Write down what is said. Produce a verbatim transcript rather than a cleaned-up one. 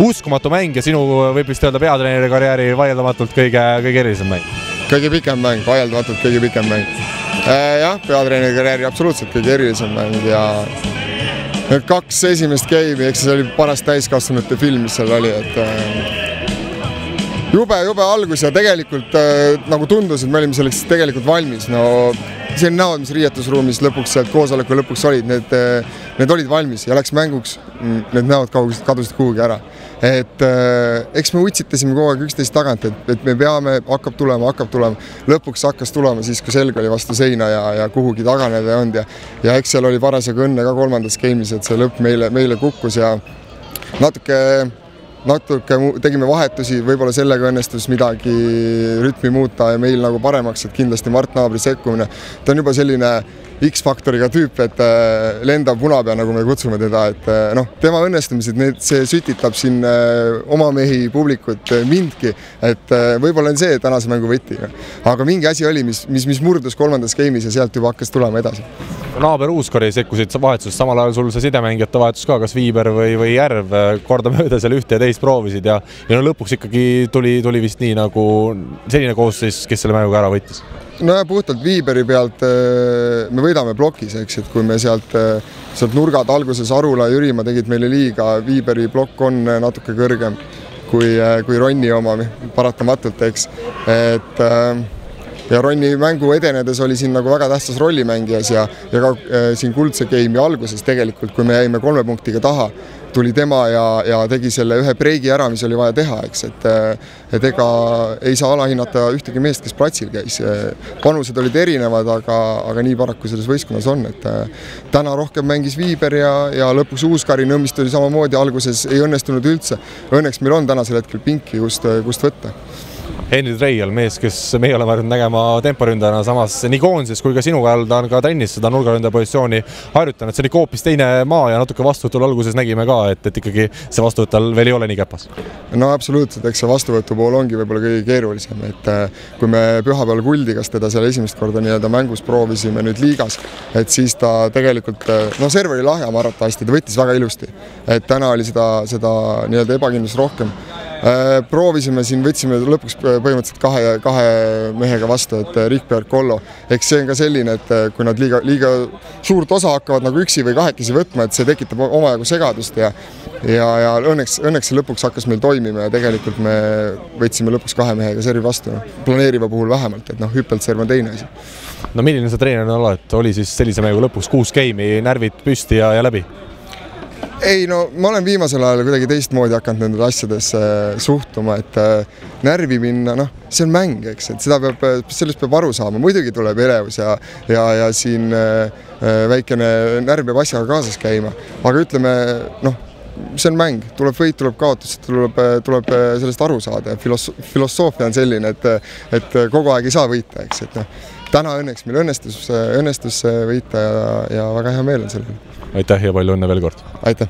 uskumatu mäng ja sinu võib vist öelda peatreeneri karjääri vaieldamatult kõige, kõige erilisem mäng. Kõige pikem mäng, vaieldamatult kõige pikem mäng. Jah, peatreeneri karjääri absoluutselt kõige erilisem mäng ja need kaks esimest game'i, eks see oli paras täiskasvanute film, mis seal oli, et jube, jube algus ja tegelikult nagu tundus, et me olime selleks tegelikult valmis. No, see on näod, mis riietusruumis lõpuks sealt koosoleku lõpuks olid, need, need olid valmis ja läks mänguks, need näod kadusid kuhugi ära. Et eks me utsitasime kogu aeg üksteist tagant, et, et me peame, hakkab tulema, hakkab tulema. Lõpuks hakkas tulema siis, kui selg oli vastu seina ja, ja kuhugi taganeda ei olnud ja, ja eks seal oli parasjagu õnne ka kolmandas game'is, et see lõpp meile, meile kukkus ja natuke natuke tegime vahetusi, võib-olla sellega õnnestus midagi rütmi muuta ja meil nagu paremaks, et kindlasti Mart Naabri sekkumine. Ta on juba selline X-faktoriga tüüp, et lendab punapea, nagu me kutsume teda, et noh, tema õnnestumised, need, see sütitab siin oma mehi publikut mindki, et võib-olla on see tänase mängu võti. Aga mingi asi oli, mis, mis, mis murdus kolmandas game'is ja sealt juba hakkas tulema edasi. Naaber Uuskori sekkusid vahetusest, samal ajal sul see sidemängijate vahetus ka, kas Viiber või, või Järv korda mööda seal ühte ja teist proovisid ja, ja no lõpuks ikkagi tuli, tuli vist nii nagu selline koosseis, kes selle mänguga ära võttis. No ja puhtalt Viiberi pealt me võidame plokis, eks, et kui me sealt, sealt nurgad alguses Arula ja Jürimaa tegid meile liiga, Viiberi plokk on natuke kõrgem kui, kui Ronni oma paratamatult, eks, et ja Ronni mängu edenedes oli siin nagu väga tähtsas rollimängijas ja, ja ka siin kuldse game'i alguses tegelikult, kui me jäime kolme punktiga taha, tuli tema ja, ja tegi selle ühe breigi ära, mis oli vaja teha, eks, et, et ega ei saa alahinnata ühtegi meest, kes platsil käis. Panused olid erinevad, aga, aga nii paraku selles võistkonnas on, et täna rohkem mängis Viiber ja, ja lõpuks Uuskari Nõmmist oli samamoodi, alguses ei õnnestunud üldse. Õnneks meil on tänasel hetkel pinki, kust, kust võtta. Henri Treial, mees, kes meie oleme harjunud nägema temporündajana, samas nii koondises kui ka sinuga ajal ta on ka trennis seda nurgaründaja positsiooni harjutanud. See oli hoopis teine maa ja natuke vastuvõtul alguses nägime ka, et, et ikkagi see vastuvõttal veel ei ole nii käpas. No absoluutselt, eks see vastuvõtu pool ongi võib-olla kõige keerulisem, et kui me pühapäeval Kuldigas teda seal esimest korda nii-öelda mängus proovisime nüüd liigas, et siis ta tegelikult, no serv oli lahja maratasti, ta võttis väga ilusti, et täna oli seda, seda nii-öelda ebakindlust rohkem. Proovisime siin, võtsime lõpuks põhimõtteliselt kahe, kahe mehega vastu, et Rikberg, Kollo. Eks see on ka selline, et kui nad liiga, liiga suurt osa hakkavad nagu üksi või kahekesi võtma, et see tekitab omajagu segadust ja, ja, ja õnneks, õnneks see lõpuks hakkas meil toimima ja tegelikult me võtsime lõpuks kahe mehega servi vastu. Planeeriva puhul vähemalt, et noh, hüppelt serv on teine asi. No milline see treenerina oled? Oli siis sellise mängu lõpuks kuus game'i, närvid püsti ja, ja läbi? Ei, no ma olen viimasel ajal kuidagi teistmoodi hakanud nendele asjadesse suhtuma, et närvi minna, noh, see on mäng, eks, et seda peab, sellest peab aru saama. Muidugi tuleb elevus ja, ja, ja siin väikene närv peab asjaga kaasas käima, aga ütleme, noh, see on mäng, tuleb võit, tuleb kaotus, tuleb, tuleb sellest aru saada ja filosoofia on selline, et, et kogu aeg ei saa võita, eks, et noh, täna õnneks meil õnnestus, õnnestus võita ja, ja väga hea meel on sellele. Aitäh ja palju õnne veel kord. Aitäh.